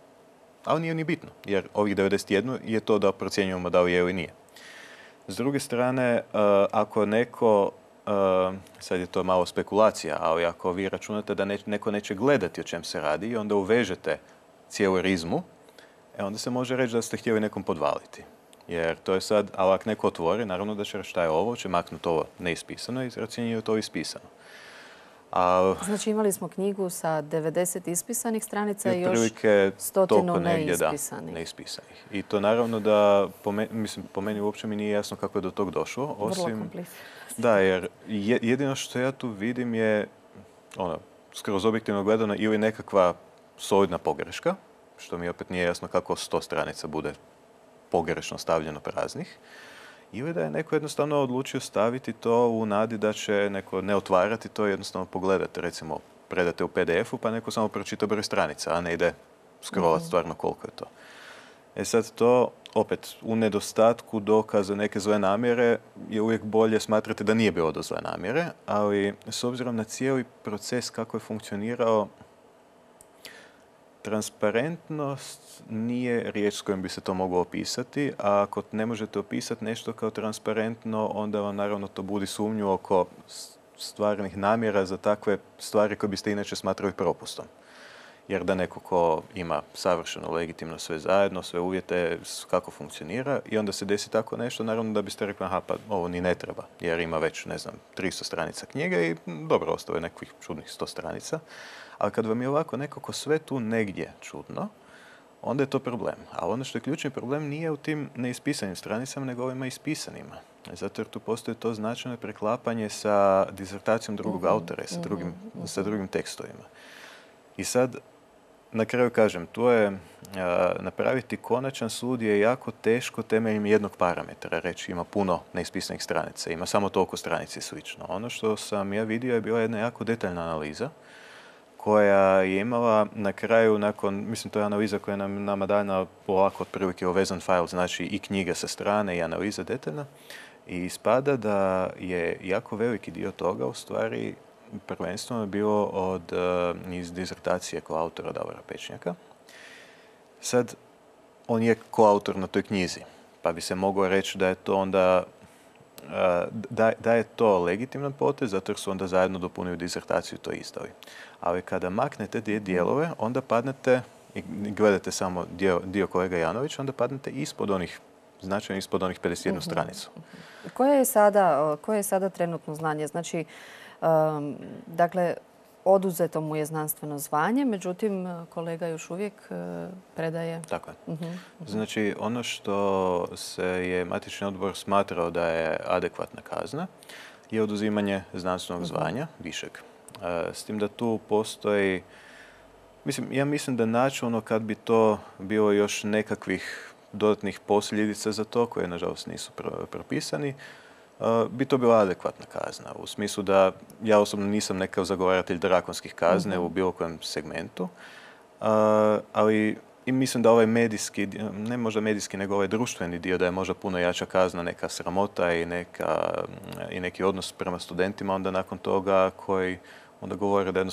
ali nije ni bitno, jer ovih 91 je to da procjenjujemo da li je ili nije. S druge strane, ako neko, sad je to malo spekulacija, ali ako vi računate da neko neće gledati o čem se radi i onda uvežete cijelu rizmu, onda se može reći da ste htjeli nekom podvaliti. Jer to je sad, ali ako neko otvori, naravno da će reći šta je ovo, će maknuti ovo neispisano i ocjenjuje to ispisano. Znači imali smo knjigu sa 90 ispisanih stranica i još otprilike 100 neispisanih. Neispisanih. I to naravno da, po meni uopće mi nije jasno kako je do tog došlo. Vrlo komplicirano. Da, jer jedino što ja tu vidim je, skroz objektivno gledano, ili nekakva solidna pogreška, što mi opet nije jasno kako 100 stranica bude pogrešno stavljeno praznih, ili da je neko jednostavno odlučio staviti to u nadi da će neko ne otvarati to i jednostavno pogledati. Recimo, predate u PDF-u pa neko samo pročita broj stranica, a ne ide scrollat stvarno koliko je to. Sad to, opet, u nedostatku dokaza neke zle namjere je uvijek bolje smatrati da nije bilo do zle namjere, ali s obzirom na cijeli proces kako je funkcionirao, transparentnost nije riječ s kojom bi se to moglo opisati, a ako ne možete opisati nešto kao transparentno, onda vam naravno to budi sumnju oko stvarnih namjera za takve stvari koje biste inače smatrali propustom. Jer da neko ko ima savršeno legitimno sve zajedno, sve uvjete kako funkcionira i onda se desi tako nešto, naravno da biste rekli aha, pa ovo ni ne treba, jer ima već, 300 stranica knjige i dobro, ostalo je nekih čudnih 100 stranica. Ali kad vam je ovako nekako sve tu negdje čudno, onda je to problem. A ono što je ključni problem nije u tim neispisanim stranicama, nego ovima ispisanima. Zato jer tu postoji to značajno preklapanje sa disertacijom drugog autora, sa drugim tekstovima. I sad, na kraju kažem, tu je napraviti konačan sud je jako teško temeljem jednog parametra. Reći ima puno neispisanih stranica, ima samo toliko stranica i slično. Ono što sam ja vidio je bila jedna jako detaljna analiza koja je imala na kraju, to je analiza koja je nama dana polako otprilike uvezan file, znači i knjiga sa strane i analiza detaljna. I ispada da je jako veliki dio toga u stvari prvenstveno bilo iz dizertacije koautora Davora Pečnjaka. Sad, on je koautor na toj knjizi, pa bi se moglo reći da je to onda da je to legitiman potez, zato jer su onda zajedno dopunili dizertaciju i to izdali. Ali kada maknete te dijelove, onda padnete i gledate samo dio kolega Janovića, onda padnete značajno ispod onih 51 stranicu. Koje je sada trenutno znanje? Znači, dakle, oduzeto mu je znanstveno zvanje, međutim kolega još uvijek predaje. Tako je. Znači, ono što se je matični odbor smatrao da je adekvatna kazna je oduzimanje znanstvenog zvanja višeg. S tim da tu postoji, ja mislim da načelno kad bi to bilo još nekakvih dodatnih posljedica za to, koje nažalost nisu propisani, bi to bila adekvatna kazna. U smislu da ja osobno nisam nekakav zagovaratelj drakonskih kazne u bilo kojem segmentu, ali i mislim da ovaj medijski, ne možda medijski, nego ovaj društveni dio, da je možda puno jača kazna, neka sramota i neki odnos prema studentima onda nakon toga koji onda govore da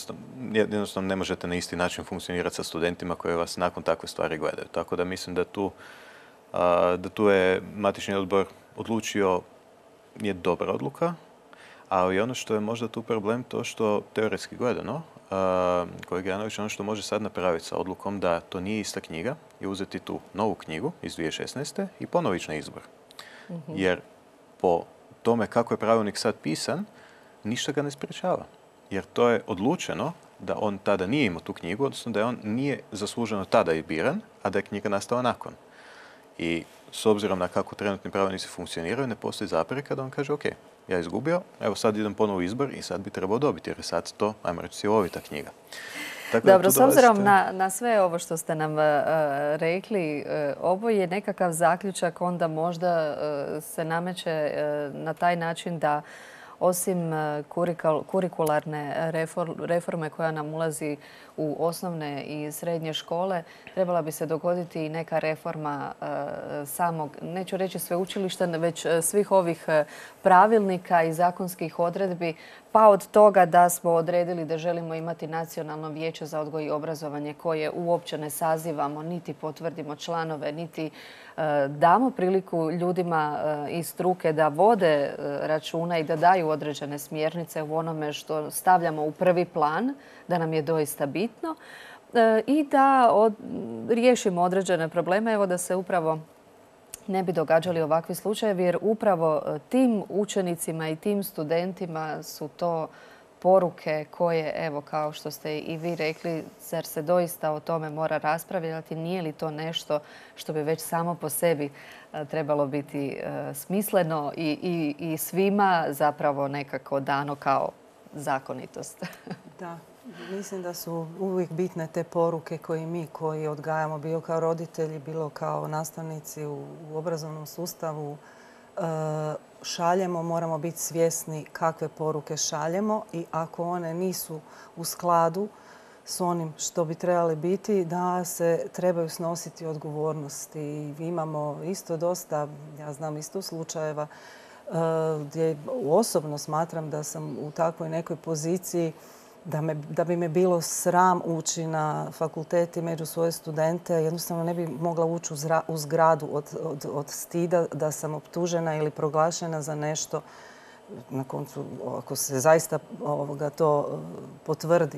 jednostavno ne možete na isti način funkcionirati sa studentima koji vas nakon takve stvari gledaju. Tako da mislim da tu je matični odbor odlučio, je dobra odluka, ali ono što je možda tu problem to što teoretski gledano, kolega Janović, ono što može sad napraviti sa odlukom da to nije ista knjiga i uzeti tu novu knjigu iz 2016. i ponovo ići na izbor. Jer po tome kako je pravilnik sad pisan, ništa ga ne sprečava. Jer to je odlučeno da on tada nije imao tu knjigu, odnosno da je on nije zasluženo tada i biran, a da je knjiga nastala nakon. I s obzirom na kako trenutni pravilnici funkcioniraju, ne postoji zapreka da on kaže ok, ja izgubio, evo sad idem ponovo u izbor i sad bi trebao dobiti, jer je sad to, ajmo reći, cjelovita knjiga. Dobro, s obzirom na sve ovo što ste nam rekli, ovo je nekakav zaključak, onda možda se nameće na taj način da osim kurikularne reforme koja nam ulazi u osnovne i srednje škole, trebala bi se dogoditi i neka reforma samog, neću reći sveučilišta, već svih ovih pravilnika i zakonskih odredbi, pa od toga da smo odredili da želimo imati Nacionalno vijeće za odgoj i obrazovanje koje uopće ne sazivamo, niti potvrdimo članove, niti damo priliku ljudima iz struke da vode računa i da daju određene smjernice u onome što stavljamo u prvi plan, da nam je doista bitno i da riješimo određene probleme, evo da se upravo ne bi događali ovakvi slučajevi, jer upravo tim učenicima i tim studentima su to poruke koje, evo, kao što ste i vi rekli, zar se doista o tome mora raspravljati, nije li to nešto što bi već samo po sebi trebalo biti smisleno i svima zapravo nekako dano kao zakonitost? Da, mislim da su uvijek bitne te poruke koje mi koji odgajamo, bilo kao roditelji, bilo kao nastavnici u obrazovnom sustavu, šaljemo, moramo biti svjesni kakve poruke šaljemo i ako one nisu u skladu s onim što bi trebali biti, da se trebaju snositi odgovornosti. Imamo isto dosta, ja znam isto slučajeva gdje osobno smatram da sam u takvoj nekoj poziciji da bi me bilo sram ući na fakultet i među svoje studente. Jednostavno ne bi mogla ući u zgradu od stida da sam optužena ili proglašena za nešto. Na koncu, ako se zaista to potvrdi,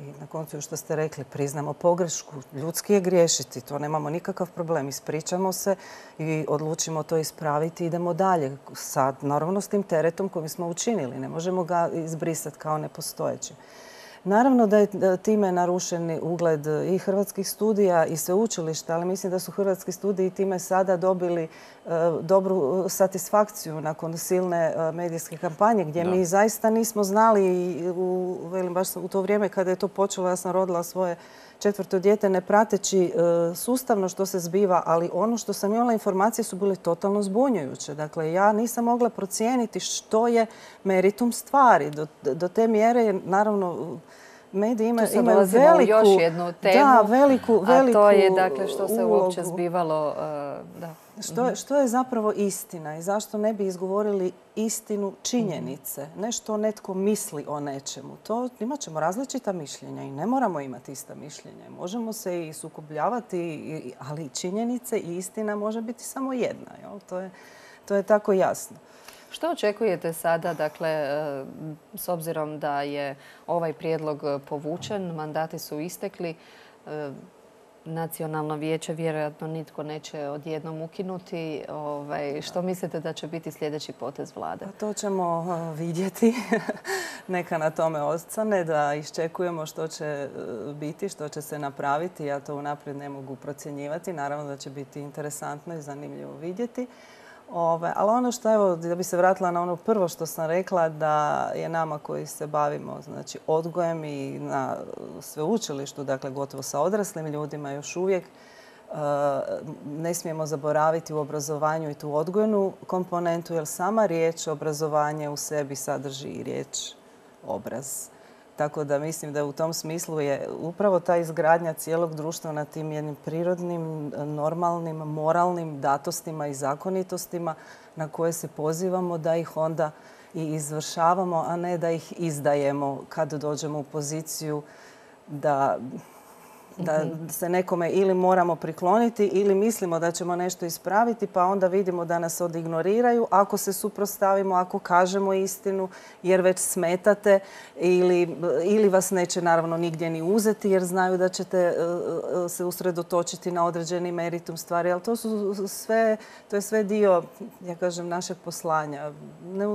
i na koncu što ste rekli, priznamo pogrešku. Ljudski je griješiti, to nemamo nikakav problem. Ispričamo se i odlučimo to ispraviti i idemo dalje. Sad, naravno, s tim teretom koji smo učinili. Ne možemo ga izbrisati kao nepostojeći. Naravno da je time narušen ugled i hrvatskih studija i sveučilišta, ali mislim da su hrvatski studiji time sada dobili dobru satisfakciju nakon silne medijske kampanje gdje mi zaista nismo znali, baš u to vrijeme kada je to počelo, ja sam rodila svoje 4. dijete ne prateći sustavno što se zbiva, ali ono što sam imala informacije su bile totalno zbunjujuće. Dakle, ja nisam mogla procijeniti što je meritum stvari. Do te mjere, naravno, mediji imaju veliku... još jednu temu, a to je dakle što se uopće zbivalo. Što je zapravo istina i zašto ne bi izgovorili istinu činjenice? Ne što netko misli o nečemu. Imat ćemo različita mišljenja i ne moramo imati ista mišljenja. Možemo se i sukobljavati, ali činjenice i istina može biti samo jedna. To je tako jasno. Što očekujete sada, dakle, s obzirom da je ovaj prijedlog povučen, mandati su istekli, nacionalno vijeće vjerojatno nitko neće odjednom ukinuti. Što mislite da će biti sljedeći potez vlade? To ćemo vidjeti. Neka na tome ostane, da iščekujemo što će biti, što će se napraviti. Ja to unaprijed ne mogu procjenjivati. Naravno da će biti interesantno i zanimljivo vidjeti. Ali ono što, evo, da bi se vratila na ono prvo što sam rekla, da je nama koji se bavimo, znači, odgojem i na sveučilištu, dakle gotovo sa odraslim ljudima još uvijek, ne smijemo zaboraviti u obrazovanju i tu odgojnu komponentu, jer sama riječ obrazovanje u sebi sadrži i riječ obraz. Tako da mislim da u tom smislu je upravo ta izgradnja cijelog društva na tim jednim prirodnim, normalnim, moralnim datostima i zakonitostima na koje se pozivamo, da ih onda i izvršavamo, a ne da ih izdajemo kad dođemo u poziciju da se nekome ili moramo prikloniti ili mislimo da ćemo nešto ispraviti, pa onda vidimo da nas odignoriraju ako se suprotstavimo, ako kažemo istinu, jer već smetate, ili vas neće naravno nigdje ni uzeti jer znaju da ćete se usredotočiti na određeni meritum stvari. Ali to je sve dio, ja kažem, našeg poslanja.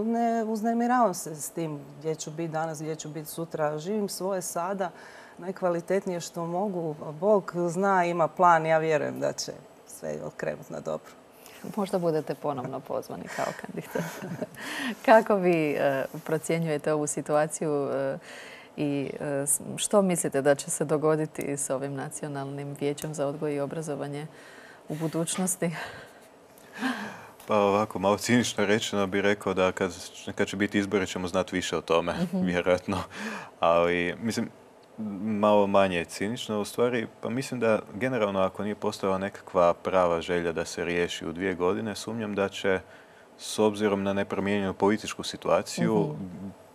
Ne uznemiravam se s tim gdje ću biti danas, gdje ću biti sutra. Živim svoje sada najkvalitetnije što mogu. Bog zna, ima plan. Ja vjerujem da će sve okrenuti na dobro. Možda budete ponovno pozvani kao kandidat. Kako vi procjenjujete ovu situaciju i što mislite da će se dogoditi s ovim Nacionalnim vijećem za odgoj i obrazovanje u budućnosti? Pa ovako, malo cinično rečeno bih rekao da kad će biti izbori ćemo znati više o tome, vjerojatno. Ali, mislim, malo manje cinično u stvari. Pa mislim da generalno ako nije postojala nekakva prava želja da se riješi u 2 godine, sumnjam da će s obzirom na nepromijenjenu političku situaciju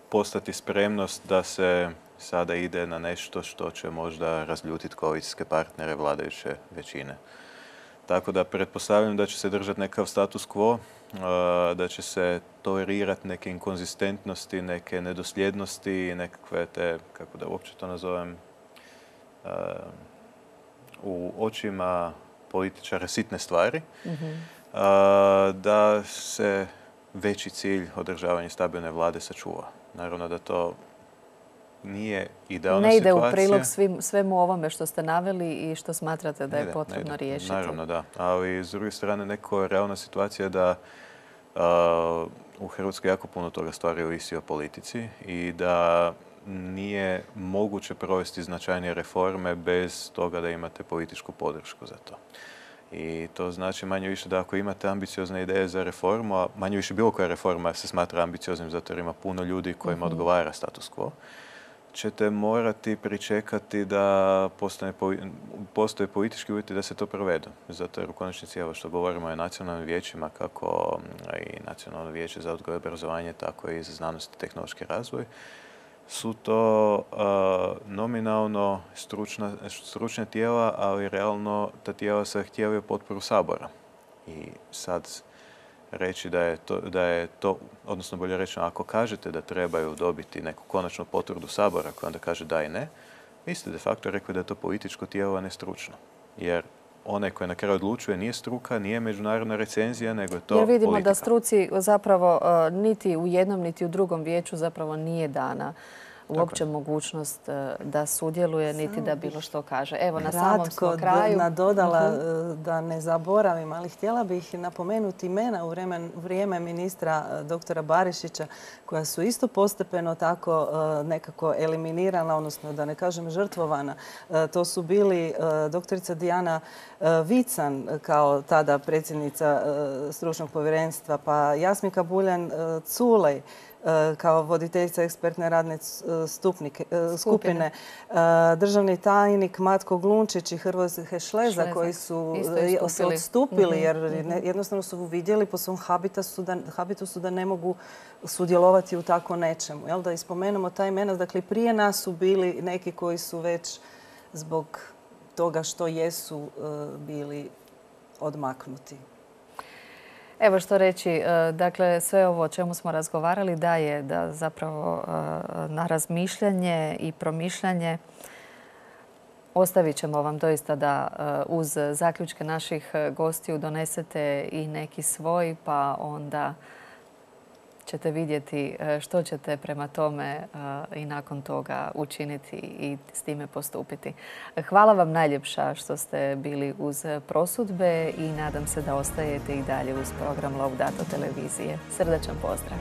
postati spremnost da se sada ide na nešto što će možda razljutiti koalicijske partnere vladajuće većine. Tako da pretpostavljam da će se držati nekakav status quo, da će se tolerirati neke inkonzistentnosti, neke nedosljednosti, nekakve te, kako da uopće to nazovem, u očima političara sitne stvari, da se veći cilj održavanja stabilne vlade sačuva. Naravno da to nije idealna situacija. Ne ide u prilog svemu ovome što ste naveli i što smatrate da je potrebno riješiti. Naravno da, ali s druge strane neko realna situacija da u Hrvatskoj jako puno toga stvari ovisi o politici i da nije moguće provesti značajnije reforme bez toga da imate političku podršku za to. I to znači manje više da ako imate ambiciozne ideje za reformu, a manje više bilo koja reforma se smatra ambicioznim zato jer ima puno ljudi kojima odgovara status quo, ćete morati pričekati da postoje politički uvjeti da se to provedu. Zato jer u konačnici, evo što govorimo o nacionalnim vijećima, kako i Nacionalno vijeće za odgoj i obrazovanje, tako i za znanost i tehnološki razvoj, su to nominalno stručna tijela, ali realno ta tijela zahtijevaju potporu Sabora. I sad reći da je to, odnosno bolje rečeno, ako kažete da trebaju dobiti neku konačnu potvrdu Sabora koja onda kaže da i ne, vi ste de facto rekli da je to političko tijelo, a ne stručno. Jer onaj koji na kraju odlučuje nije struka, nije međunarodna recenzija, nego je to politika. Jer vidimo da struci zapravo niti u jednom, niti u drugom vijeću zapravo nije dana uopće mogućnost da sudjeluje, niti da bilo što kaže. Evo, na samom smo kraju. Nadodala da ne zaboravim, ali htjela bih napomenuti imena u vrijeme ministra doktora Barišića, koja su isto postepeno tako nekako eliminirana, odnosno da ne kažem žrtvovana. To su bili doktorica Dijana Vican kao tada predsjednica stručnog povjerenstva, pa Jasmika Buljan-Culej kao voditeljica ekspertne radne skupine, državni tajnik Matko Glunčić i Hrvoje Šleza koji su se odstupili jer jednostavno su vidjeli po svom habitusu da ne mogu sudjelovati u tako nečemu. Da ispomenemo ta imena, dakle prije nas su bili neki koji su već zbog toga što jesu bili odmaknuti. Evo što reći, dakle sve ovo o čemu smo razgovarali daje da zapravo na razmišljanje i promišljanje Ostavit ćemo vam doista da uz zaključke naših gostiju donesete i neki svoj, pa onda ćete vidjeti što ćete prema tome i nakon toga učiniti i s time postupiti. Hvala vam najljepša što ste bili uz Prosudbe i nadam se da ostajete i dalje uz program Laudato televizije. Srdačan pozdrav!